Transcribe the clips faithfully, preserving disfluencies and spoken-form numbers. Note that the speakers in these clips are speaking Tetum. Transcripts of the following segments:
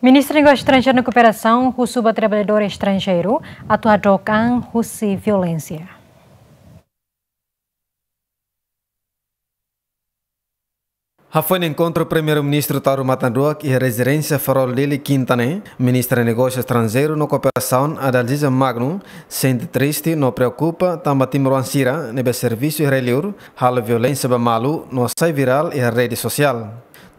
Ministra Negósiu Estranjeiru no Kooperasaun husu ba traballadór estranjeiru atu hadook an husi violénsia. Hafoin enkontru Primeiru-Ministru Taur Matan Ruak iha rezidénsia Farol Dili, Kinta ne'e, Ministra Negósiu Estranjeiru no Kooperasaun, Adalgisa Magno, sente triste no preokupa tanba timoroan sira ne'ebé servisu iha rai-liur halo violénsia ba malu no sai virál iha rede sosiál.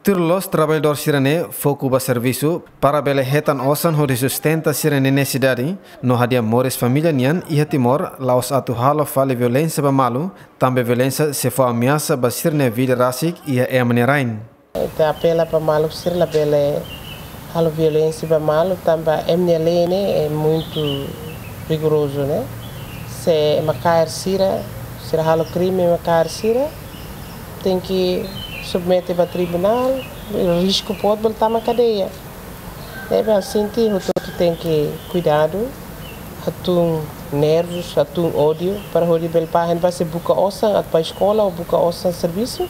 Tuir loloos traballadór sira-ne'e foku ba servisu para bele hetan osan hodi sustenta sira-nia nesesidade no hadi'a moris família nian iha Timor, la'ós atu halo fali violénsia ba malu, tanba violénsia sei fó ameasa ba sira-nia vida rasik iha ema nia rain. Ita apela ba maluk sira labele halo violénsia ba malu, tanba ema nia lei ne'e é muito rigoroso, né? Se ema kaer sira, sira halo krime, ema kaer sira, tenke submete ba tribunál, risku boot bele tama kadeia. Ne'ebé ha'u sente hotu-hotu tenke kuidadu, hatún nervus, hatún ódiu, para hodi bele ba hein ba sei buka osan, atu ba eskola ou buka osan servisu,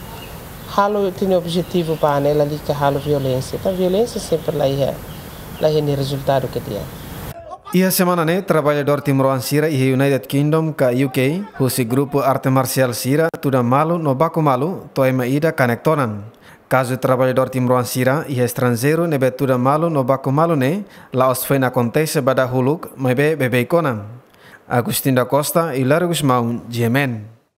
halo ita-nia objetivu ba ne'e, lalika halo violénsia. Entaun violénsia sempre la iha, la iha nia rezultadu ke di'ak. Iha semana ne'e, traballadór timoroan sira iha United Kingdom ka U K, husi grupu arte marsiál sira, tuda malu no baku malu, to'o ema ida kanek tonan. Kazu traballadór timoroan sira iha estranjeiru ne'ebé tuda malu no baku malu ne'e, la'ós foin akontese ba dahuluk, maibé beibeik ona. Agostinho da Costa, Hilário Gusmão, G M N.